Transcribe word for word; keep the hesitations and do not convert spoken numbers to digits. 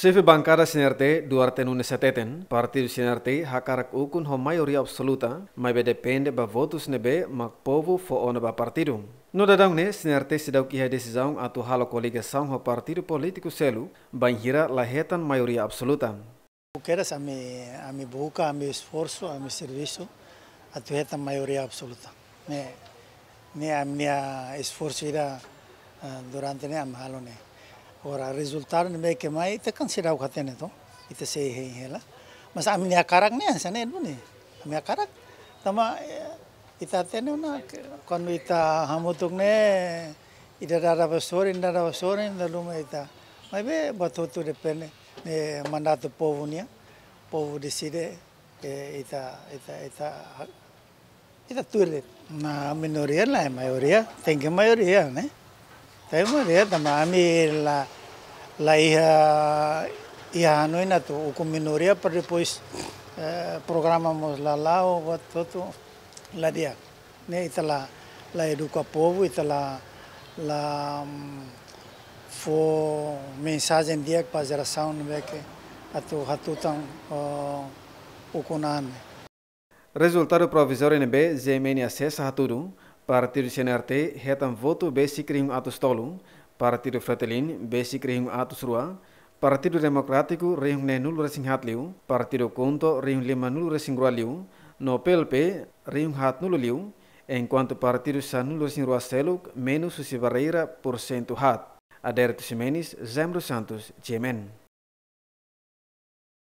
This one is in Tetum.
Xefe bankada CNRT, Duarte Nunes hateten, partidu CNRT hakarak ukun ho maioria absoluta, maibé depende ba votus ne'ebé mak povu fó ona ba partidu. No daudaun ne'e, CNRT seidauk iha desizaun atu halo koligasaun ho partidu polítiku seluk, bainhira la hetan maioria absoluta. Kedas ami, ami buka, ami esforsu, ami servisu atu hetan maioria absoluta. Ne'e, ne'e ami-nia esforsu ida, ah, durante ne'e ami halo ne'e. Agora rezultadu ne'ebé ke mai, ita kan seidauk hatene to, ita sei hein hela. Mas ami-nia hakarak ne'e, hanesan ne'e duni. Ami hakarak, tanba, eh, ita hatene ona, kuandu ita hamutuk ne'e, ida dada ba sorin, ida dada ba sorin, ida luma ita. Maibé buat hotu depende, ne'e mandatu povu nian, povu deside, eh, ita, ita, ita, ita tuir de'it. Nah, minoria lae maioria, tenke maioria, ne'e. Tenke maioria, tanba ami la, la iha, iha hanoin atu ukun minoria para depois, eh, programa mós la la'o, buat hotu la di'ak. Ne'e ita la, la eduka povu, ita la, la, mm, fó mensajen di'ak ba jerasaun ne'ebé ke atu hatutan, oh, ukun an ne'e. Rezultadu provizóriu ne'ebé GMN asesa hatudu, partidu CNRT hetan votu besik rihun atus tolu, partidu Fretilin besik rihun atus rua, Partidu Demokrátiku rihun neenulu-resin-haat liu, Partidu KHUNTO rihun lima-nulu-resin-rua liu, no PLP rihun haat-nulu liu, enkuantu partidu sanulu-resin-rua seluk menus husi barreira pursentu haat. Adérito Ximenes, Jaime dos Santos, GMN.